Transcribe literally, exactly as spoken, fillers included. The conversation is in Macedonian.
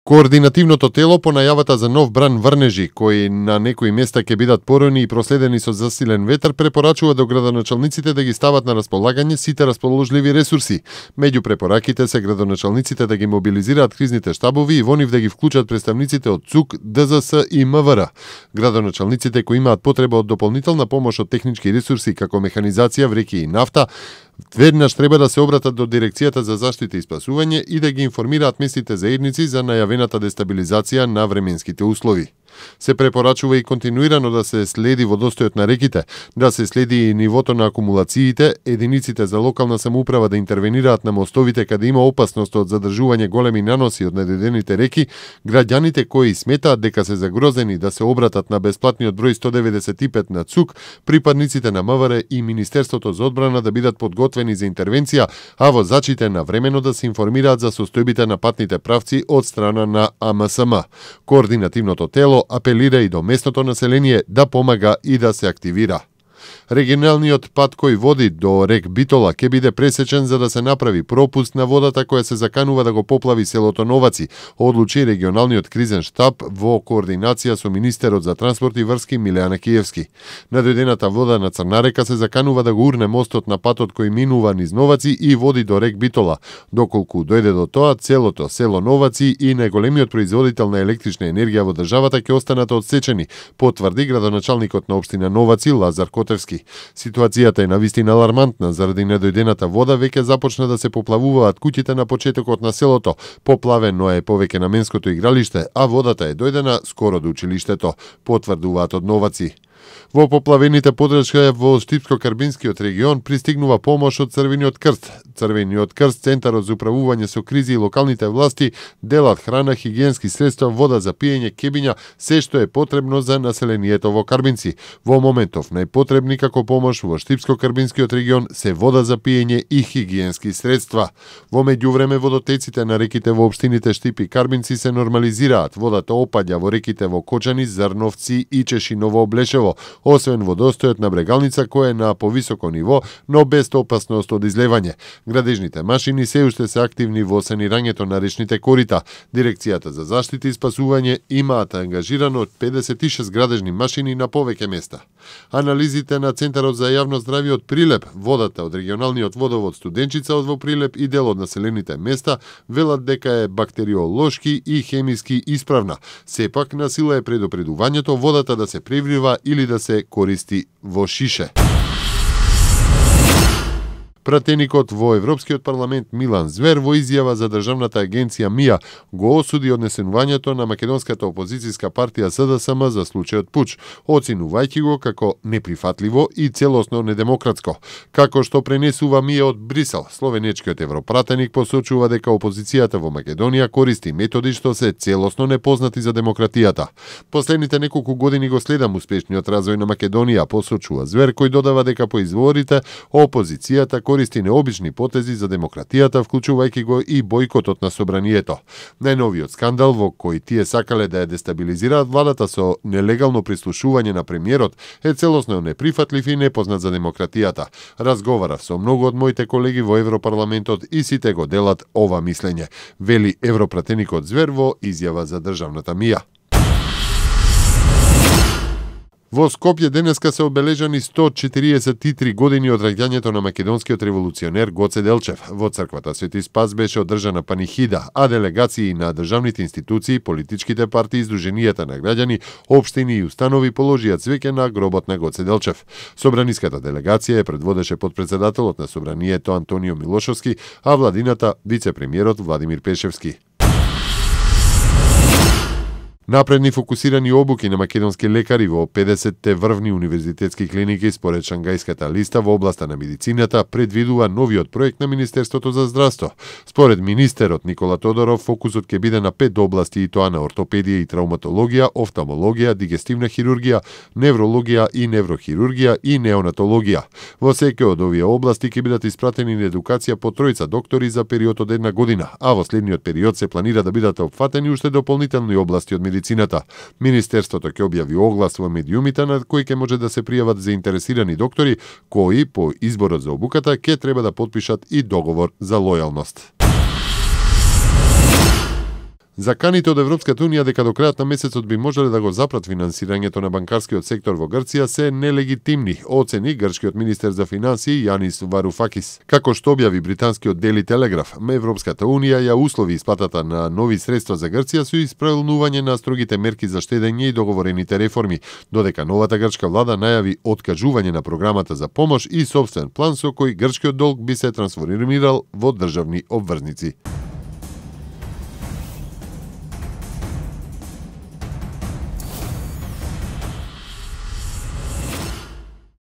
Координативното тело по најавата за нов бран врнежи, кои на некои места ќе бидат порони и проследени со засилен ветар, препорачува до градоначалниците да ги стават на располагање сите расположливи ресурси. Меѓу препораките се градоначалниците да ги мобилизираат кризните штабови и во нив да ги вклучат представниците од ЦУК, ДЗС и МВР. Градоначалниците кои имаат потреба од дополнителна помош од технички ресурси како механизација, вреќи и нафта, веднаш треба да се обратат до Дирекцијата за заштита и спасување и да ги информираат местните заедници за најавената дестабилизација на временските услови. Се препорачува и континуирано да се следи водостојот на реките, да се следи и нивото на акумулациите, единиците за локална самоуправа да интервенираат на мостовите каде има опасност од задржување големи наноси од недојдените реки, граѓаните кои сметаат дека се загрозени да се обратат на бесплатниот број сто деветдесет и пет на ЦУК, припадниците на МВР и Министерството за одбрана да бидат подготвени за интервенција, а возачите навремено да се информираат за состојбите на патните правци од страна на А М С М. Координативното тело апелира и до местното население да помага и да се активира. Регионалниот пат кој води до рек Битола ќе биде пресечен за да се направи пропуст на водата која се заканува да го поплави селото Новаци, одлучи регионалниот кризен штаб во координација со министерот за транспорт и врски Милеана Киевски. Надојдената вода на Црна река се заканува да го урне мостот на патот кој минува низ Новаци и води до рек Битола. Доколку дојде до тоа, целото село Новаци и најголемиот производител на електрична енергија во државата ќе останат одсечени, потврди градоначалникот на општина Новаци Лазар Котевски. Ситуацијата е навистина алармантна заради недојдената вода, веќе започна да се поплавуваат куќите на почетокот на селото. Поплавено е повеќе наменското игралиште, а водата е дојдена скоро до училиштето, потврдуваат од Новаци. Во поплавените подрачја во Штипско-Карбинскиот регион пристигнува помош од Црвениот крст. Црвениот крст, Центарот за управување со кризи и локалните власти делат храна, хигиенски средства, вода за пиење, кебиња, се што е потребно за населението во Карбинци. Во моментов најпотребни како помош во Штипско-Карбинскиот регион се вода за пиење и хигиенски средства. Во меѓувреме водотеците на реките во општините Штип и Карбинци се нормализираат. Водата опаѓа во реките во Кочани, Зрновци и Чешиново Облешево, освен водостојот на Брегалница кој е на повисоко ниво, но без опасност од излевање. Градежните машини се уште се активни во санирањето на речните корита. Дирекцијата за заштита и спасување имаат ангажирано од педесет и шест градежни машини на повеќе места. Анализите на Центарот за јавно здравје од Прилеп, водата од регионалниот водовод Студенчица од во Прилеп и дел од населените места велат дека е бактериолошки и хемиски исправна. Сепак на сила е предупредувањето водата да се преврива или да се користи во шише. Пратеникот во Европскиот парламент Милан Звер во изјава за државната агенција МИА го осуди однесувањето на македонската опозицијска партија С Д С М за случајот пуч, оценувајќи го како неприфатливо и целосно недемократско. Како што пренесува МИА од Брисел, словенечкиот европратеник посочува дека опозицијата во Македонија користи методи што се целосно непознати за демократијата. Последните неколку години го следам успешниот развој на Македонија, посочува Звер, кој додава дека по изворите опозицијата користи необични потези за демократијата, вклучувајќи го и бојкотот на собранието. Најновиот скандал во кој тие сакале да ја дестабилизираат владата со нелегално прислушување на премиерот е целосно неприфатлив и непознат за демократијата. Разговарав со многу од моите колеги во Европарламентот и сите го делат ова мислење, вели европратеникот Звер во изјава за државната МИА. Во Скопје денеска се обележани сто четириесет и три години од раѓањето на македонскиот револуционер Гоце Делчев. Во црквата Свети Спас беше одржана панихида, а делегации на државните институции, политичките партии, издруженијата на граѓани, општини и установи положија цвеќе на гробот на Гоце Делчев. Собраниската делегација ја предводеше подпредседателот на собранието Антонио Милошовски, а владината вице-премиерот Владимир Пешевски. Напредни фокусирани обуки на македонски лекари во педесетте врвни универзитетски клиники според Шангајската листа во областа на медицината предвидува новиот проект на Министерството за здравство. Според министерот Никола Тодоров, фокусот ќе биде на пет области, и тоа на ортопедија и травматологија, офталмологија, дигестивна хирургија, неврологија и неврохирургија и неонатологија. Во секој од овие области ќе бидат испратени на едукација по тројца доктори за период од една година, а во следниот период се планира да бидат опфатени уште дополнителни области од медицината. Министерството ќе објави оглас во медиумите на кои ќе може да се пријават заинтересирани доктори, кои по изборот за обуката ќе треба да потпишат и договор за лојалност. Заканите од Европската унија дека до крајот на месецот би можеле да го запрат финансирањето на банкарскиот сектор во Грција се нелегитимни, оцени грчкиот министер за финансии Јанис Варуфакис. Како што објави британскиот Дели Телеграф, Европската унија ја услови исплатата на нови средства за Грција со исправнување на строгите мерки за штедење и договорените реформи, додека новата грчка влада најави откажување на програмата за помош и сопствен план со кој грчкиот долг би се трансформирал во државни обврзници.